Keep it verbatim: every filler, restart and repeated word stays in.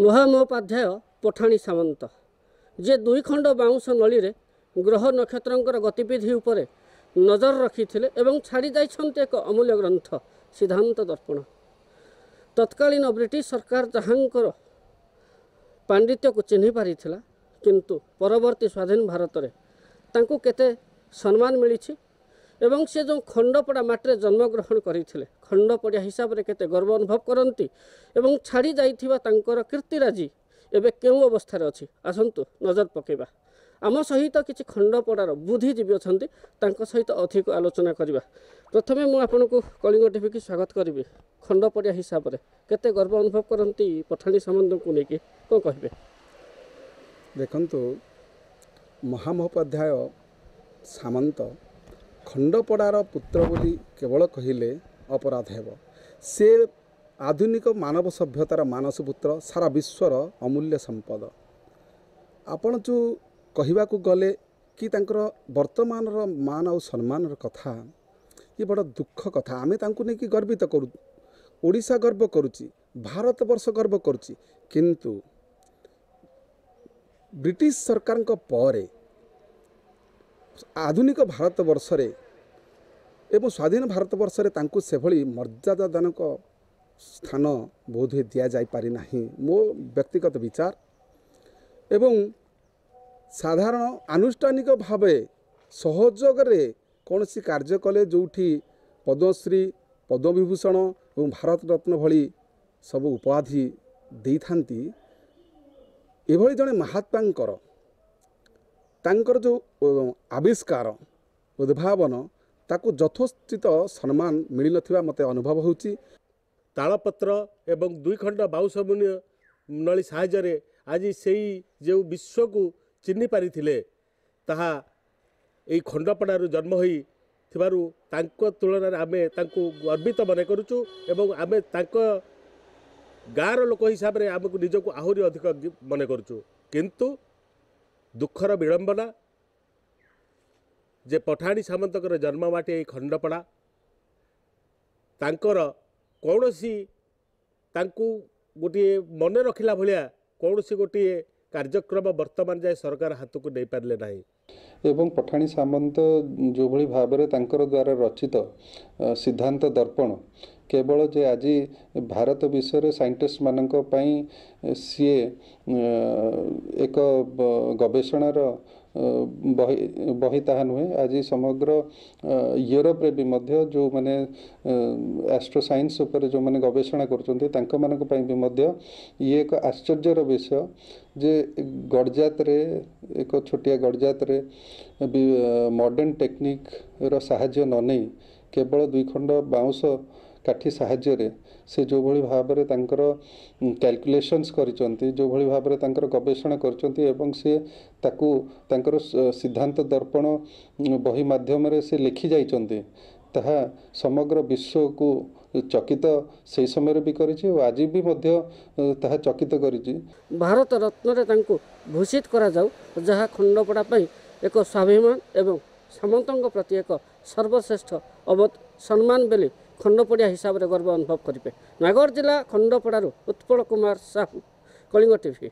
ମହାମହୋପାଧ୍ୟାୟ ପଠାଣି ସାମନ୍ତ, ଯିଏ ଦୁଇ ଖଣ୍ଡ ବାଉଁଶ ନଳୀରେ ଗ୍ରହ ନକ୍ଷତ୍ରଙ୍କର ଗତିବିଧି ଉପରେ ନଜର ରଖିଥିଲେ ଏବଂ ଛାଡ଼ି ଯାଇଛନ୍ତି ଏକ ଅମୂଲ୍ୟ ଗ୍ରନ୍ଥ ସିଦ୍ଧାନ୍ତ ଦର୍ପଣ। ତତ୍କାଳୀନ ବ୍ରିଟିଶ ସରକାର ଯାହାଙ୍କର ପାଣ୍ଡିତ୍ୟକୁ ଚିହ୍ନି ପାରିଥିଲା, କିନ୍ତୁ ପରବର୍ତ୍ତୀ ସ୍ୱାଧୀନ ଭାରତରେ ତାଙ୍କୁ କେତେ ସମ୍ମାନ ମିଳିଛି ଏବଂ ସେ ଯେଉଁ ଖଣ୍ଡପଡ଼ା ମାଟିରେ ଜନ୍ମଗ୍ରହଣ କରିଥିଲେ, ଖଣ୍ଡପଡ଼ିଆ ହିସାବରେ କେତେ ଗର୍ବ ଅନୁଭବ କରନ୍ତି ଏବଂ ଛାଡ଼ି ଯାଇଥିବା ତାଙ୍କର କୀର୍ତ୍ତିରାଜି ଏବେ କେଉଁ ଅବସ୍ଥାରେ ଅଛି, ଆସନ୍ତୁ ନଜର ପକାଇବା। ଆମ ସହିତ କିଛି ଖଣ୍ଡପଡ଼ାର ବୁଦ୍ଧିଜୀବୀ ଅଛନ୍ତି, ତାଙ୍କ ସହିତ ଅଧିକ ଆଲୋଚନା କରିବା। ପ୍ରଥମେ ମୁଁ ଆପଣଙ୍କୁ କଳିଙ୍ଗ ଟିଭିକି ସ୍ୱାଗତ କରିବି। ଖଣ୍ଡପଡ଼ିଆ ହିସାବରେ କେତେ ଗର୍ବ ଅନୁଭବ କରନ୍ତି ପଠାଣି ସାମନ୍ତଙ୍କୁ ନେଇକି, କ'ଣ କହିବେ? ଦେଖନ୍ତୁ, ମହାମହୋପାଧ୍ୟାୟ ସାମନ୍ତ ଖଣ୍ଡପଡ଼ାର ପୁତ୍ର ବୋଲି କେବଳ କହିଲେ ଅପରାଧ ହେବ। ସେ ଆଧୁନିକ ମାନବ ସଭ୍ୟତାର ମାନସ ପୁତ୍ର, ସାରା ବିଶ୍ୱର ଅମୂଲ୍ୟ ସମ୍ପଦ। ଆପଣ ଯେଉଁ କହିବାକୁ ଗଲେ କି ତାଙ୍କର ବର୍ତ୍ତମାନର ମାନ ଆଉ ସମ୍ମାନର କଥା, ଇଏ ବଡ଼ ଦୁଃଖ କଥା। ଆମେ ତାଙ୍କୁ ନେଇକି ଗର୍ବିତ କରୁ, ଓଡ଼ିଶା ଗର୍ବ କରୁଛି, ଭାରତବର୍ଷ ଗର୍ବ କରୁଛି, କିନ୍ତୁ ବ୍ରିଟିଶ ସରକାରଙ୍କ ପରେ ଆଧୁନିକ ଭାରତବର୍ଷରେ ଏବଂ ସ୍ୱାଧୀନ ଭାରତବର୍ଷରେ ତାଙ୍କୁ ସେଭଳି ମର୍ଯ୍ୟାଦାଜନକ ସ୍ଥାନ ବୋଧହୁଏ ଦିଆଯାଇପାରି ନାହିଁ, ମୋ ବ୍ୟକ୍ତିଗତ ବିଚାର। ଏବଂ ସାଧାରଣ ଆନୁଷ୍ଠାନିକ ଭାବେ ସହଯୋଗରେ କୌଣସି କାର୍ଯ୍ୟ କଲେ ଯେଉଁଠି ପଦ୍ମଶ୍ରୀ, ପଦ୍ମବିଭୂଷଣ ଏବଂ ଭାରତରତ୍ନ ଭଳି ସବୁ ଉପାଧି ଦେଇଥାନ୍ତି, ଏଭଳି ଜଣେ ମହାତ୍ମାଙ୍କର ତାଙ୍କର ଯେଉଁ ଆବିଷ୍କାର, ଉଦ୍ଭାବନ, ତାକୁ ଯଥୋଚିତ ସମ୍ମାନ ମିଳିନଥିବା ମୋତେ ଅନୁଭବ ହେଉଛି। ତାଳପତ୍ର ଏବଂ ଦୁଇ ଖଣ୍ଡ ବାଉଁଶ ମୁନି ନଳୀ ସାହାଯ୍ୟରେ ଆଜି ସେଇ ଯେଉଁ ବିଶ୍ୱକୁ ଚିହ୍ନି ପାରିଥିଲେ, ତାହା ଏଇ ଖଣ୍ଡପଡ଼ାରୁ ଜନ୍ମ ହୋଇଥିବାରୁ ତାଙ୍କ ତୁଳନାରେ ଆମେ ତାଙ୍କୁ ଗର୍ବିତ ମନେ କରୁଛୁ ଏବଂ ଆମେ ତାଙ୍କ ଗାଁର ଲୋକ ହିସାବରେ ଆମକୁ ନିଜକୁ ଆହୁରି ଅଧିକ ମନେ କରୁଛୁ। କିନ୍ତୁ ଦୁଃଖର ବିଡ଼ମ୍ବନା ଯେ ପଠାଣି ସାମନ୍ତଙ୍କର ଜନ୍ମମାଟି ଏଇ ଖଣ୍ଡପଡ଼ା, ତାଙ୍କର କୌଣସି ତାଙ୍କୁ ଗୋଟିଏ ମନେ ରଖିଲା ଭଳିଆ କୌଣସି ଗୋଟିଏ କାର୍ଯ୍ୟକ୍ରମ ବର୍ତ୍ତମାନ ଯାଏ ସରକାର ହାତକୁ ନେଇପାରିଲେ ନାହିଁ। ଏବଂ ପଠାଣି ସାମନ୍ତ ଯେଉଁଭଳି ଭାବରେ ତାଙ୍କର ଦ୍ୱାରା ରଚିତ ସିଦ୍ଧାନ୍ତ ଦର୍ପଣ କେବଳ ଯେ ଆଜି ଭାରତ ବିଷୟରେ ସାଇଣ୍ଟିଷ୍ଟମାନଙ୍କ ପାଇଁ ସିଏ ଏକ ଗବେଷଣାର ବହି ବହି ତାହା ନୁହେଁ, ଆଜି ସମଗ୍ର ୟୁରୋପରେ ବି ମଧ୍ୟ ଯେଉଁମାନେ ଆଷ୍ଟ୍ରୋ ସାଇନ୍ସ ଉପରେ ଯେଉଁମାନେ ଗବେଷଣା କରୁଛନ୍ତି ତାଙ୍କମାନଙ୍କ ପାଇଁ ବି ମଧ୍ୟ ଇଏ ଏକ ଆଶ୍ଚର୍ଯ୍ୟର ବିଷୟ ଯେ ଗଡ଼ଜାତରେ, ଏକ ଛୋଟିଆ ଗଡ଼ଜାତରେ ବି ମଡ଼ର୍ଣ୍ଣ ଟେକ୍ନିକ୍ର ସାହାଯ୍ୟ ନ ନେଇ କେବଳ ଦୁଇ ଖଣ୍ଡ ବାଉଁଶ କାଠି ସାହାଯ୍ୟରେ ସେ ଯେଉଁଭଳି ଭାବରେ ତାଙ୍କର କ୍ୟାଲକୁଲେସନ୍ସ କରିଛନ୍ତି, ଯେଉଁଭଳି ଭାବରେ ତାଙ୍କର ଗବେଷଣା କରିଛନ୍ତି ଏବଂ ସେ ତାକୁ ତାଙ୍କର ସିଦ୍ଧାନ୍ତ ଦର୍ପଣ ବହି ମାଧ୍ୟମରେ ସେ ଲେଖି ଯାଇଛନ୍ତି, ତାହା ସମଗ୍ର ବିଶ୍ୱକୁ ଚକିତ ସେହି ସମୟରେ ବି କରିଛି ଓ ଆଜି ବି ମଧ୍ୟ ତାହା ଚକିତ କରିଛି। ଭାରତ ରତ୍ନରେ ତାଙ୍କୁ ଭୂଷିତ କରାଯାଉ, ଯାହା ଖଣ୍ଡପଡ଼ା ପାଇଁ ଏକ ସ୍ୱାଭିମାନ ଏବଂ ସାମନ୍ତଙ୍କ ପ୍ରତି ଏକ ସର୍ବଶ୍ରେଷ୍ଠ ଅବ ସମ୍ମାନ ବୋଲି ଖଣ୍ଡପଡ଼ିଆ ହିସାବରେ ଗର୍ବ ଅନୁଭବ କରିବେ। ନୟାଗଡ଼ ଜିଲ୍ଲା ଖଣ୍ଡପଡ଼ାରୁ ଉତ୍ପଳ କୁମାର ସାହୁ, କଳିଙ୍ଗ ଟିଭି।